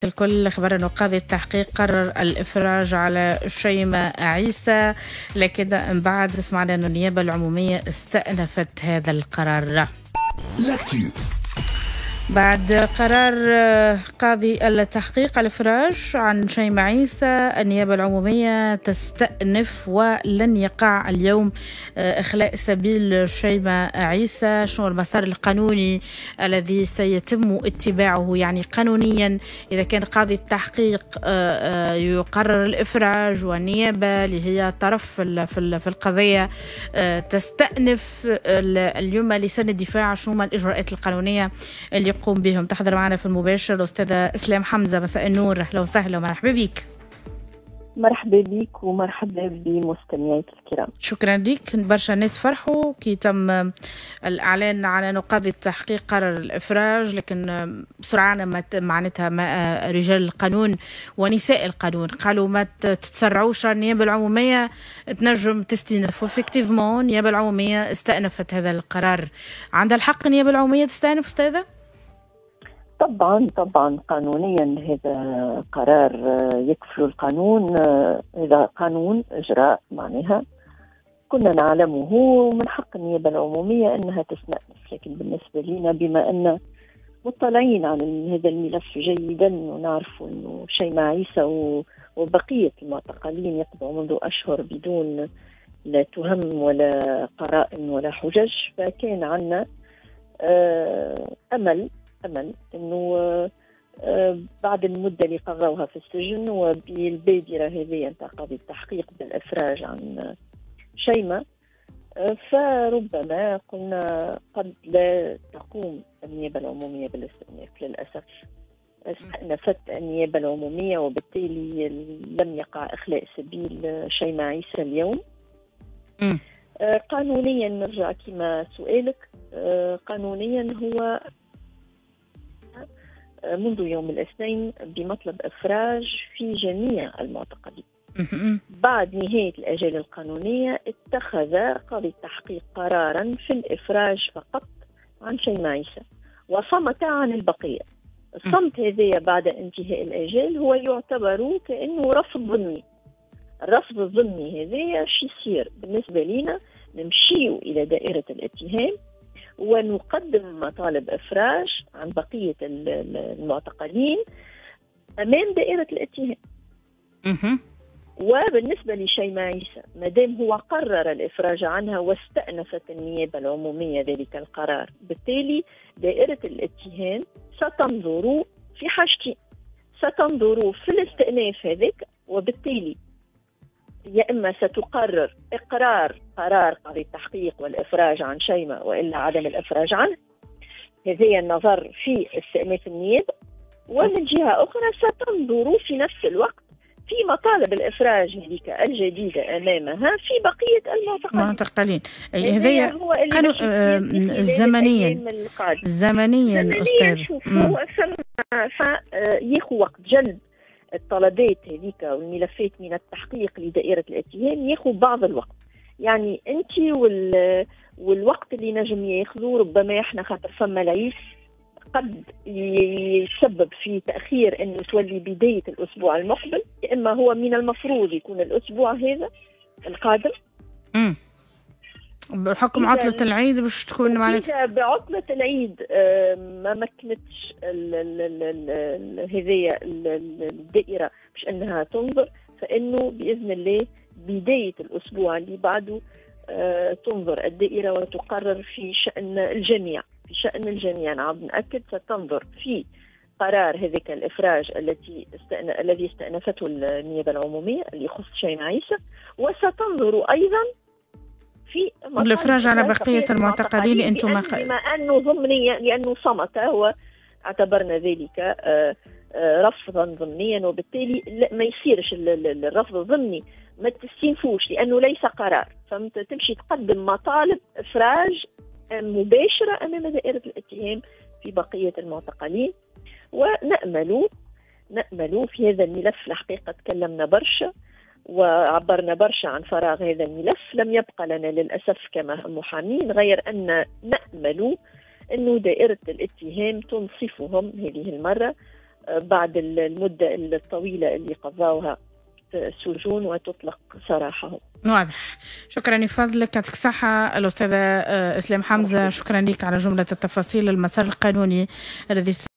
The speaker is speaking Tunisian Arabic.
الكل خبر أنه قاضي التحقيق قرر الإفراج على شيماء عيسى، لكن من بعد سمعنا أن النيابة العمومية استأنفت هذا القرار. L'actu. بعد قرار قاضي التحقيق الإفراج عن شيماء عيسى، النيابة العمومية تستأنف ولن يقع اليوم إخلاء سبيل شيماء عيسى. شنو المسار القانوني الذي سيتم اتباعه يعني قانونيا إذا كان قاضي التحقيق يقرر الإفراج والنيابة اللي هي طرف في القضية تستأنف اليوم لسان الدفاع؟ شنو الإجراءات القانونية اللي يقوم بهم؟ تحضر معنا في المباشر الأستاذة إسلام حمزة. مساء النور، أهلا وسهلا ومرحبا بك. مرحبا بك ومرحبا بمستمعيك الكرام. شكرا لك. برشا ناس فرحوا كي تم الإعلان على أنه قاضي التحقيق قرر الإفراج، لكن سرعان ما معناتها ما رجال القانون ونساء القانون قالوا ما تتسرعوش، النيابة العمومية تنجم تستأنف، و effectivement النيابة العمومية استأنفت هذا القرار. عندها الحق النيابة العمومية تستأنف أستاذة؟ طبعا طبعا، قانونيا هذا قرار يكفل القانون، هذا قانون اجراء معناها كنا نعلمه، ومن حق النيابة العمومية انها تستأنف. لكن بالنسبة لنا بما ان مطلعين على هذا الملف جيدا ونعرف انه شيماء عيسى وبقية المعتقلين يقبعوا منذ اشهر بدون لا تهم ولا قرائن ولا حجج، فكان عندنا امل انه بعد المدة اللي قضوها في السجن وبالبادره هذه نتاع قاضي التحقيق بالافراج عن شيماء، فربما قلنا قد لا تقوم النيابة العمومية بالاستئناف. للاسف استأنفت النيابة العمومية، وبالتالي لم يقع اخلاء سبيل شيماء عيسى اليوم. قانونيا نرجع كما سؤالك، قانونيا هو منذ يوم الاثنين بمطلب إفراج في جميع المعتقلين. بعد نهاية الأجال القانونية اتخذ قاضي التحقيق قرارا في الإفراج فقط عن شيماء عيسى وصمت عن البقية. الصمت هذا بعد انتهاء الأجال هو يعتبر كأنه رفض ضمني. الرفض الضمني هذا شو يصير بالنسبة لنا؟ نمشيو إلى دائرة الاتهام ونقدم مطالب إفراج عن بقية المعتقلين أمام دائرة الاتهام. وبالنسبة لشيماء عيسى ما دام هو قرر الإفراج عنها واستأنفت النيابة العمومية ذلك القرار، بالتالي دائرة الاتهام ستنظر في حاجتين، ستنظر في الاستئناف هذاك، وبالتالي يا إما ستقرر إقرار قرار قاضي التحقيق والإفراج عن شيماء وإلا عدم الإفراج عنه، هذا النظر في استئناف النيابة، ومن جهة أخرى ستنظر في نفس الوقت في مطالب الإفراج هذيك الجديدة أمامها في بقية المعتقلين. هذا هو زمنيا زمنيا أستاذ، شوف هو ياخذ وقت جلب الطلبات هذيك والملفات من التحقيق لدائرة الاتهام، ياخذ بعض الوقت. يعني انت والوقت اللي نجم ياخذه ربما احنا خاطر فما العيد قد يسبب في تأخير انه تولي بداية الاسبوع المقبل، اما هو من المفروض يكون الاسبوع هذا القادم. بحكم عطلة العيد باش تكون معناتها بعطلة العيد ما مكنتش هذه الدائرة باش انها تنظر، فانه باذن الله بداية الاسبوع اللي بعده تنظر الدائرة وتقرر في شأن الجميع، في شأن الجميع. نعم نأكد ستنظر في قرار هذاك الإفراج الذي استأنفته النيابة العمومية اللي يخص شيماء عيسى، وستنظر أيضا في الإفراج على بقية المعتقلين. أنتم بما أنه ضمنيا لأنه صمت، هو اعتبرنا ذلك رفضا ضمنيا، وبالتالي ما يصيرش الرفض الضمني، ما تستنفوش لأنه ليس قرار، فهمت؟ تمشي تقدم مطالب إفراج مباشرة أمام دائرة الاتهام في بقية المعتقلين. ونأمل في هذا الملف، الحقيقة تكلمنا برشا وعبرنا برشا عن فراغ هذا الملف، لم يبقى لنا للأسف كما محامين غير أن نأمل أن دائرة الاتهام تنصفهم هذه المرة بعد المدة الطويلة اللي قضاوها في السجون وتطلق سراحهم. واضح، شكرا لفضلك، يعطيك الصحة الأستاذة إسلام حمزة، شكرا لك على جملة التفاصيل المسار القانوني الذي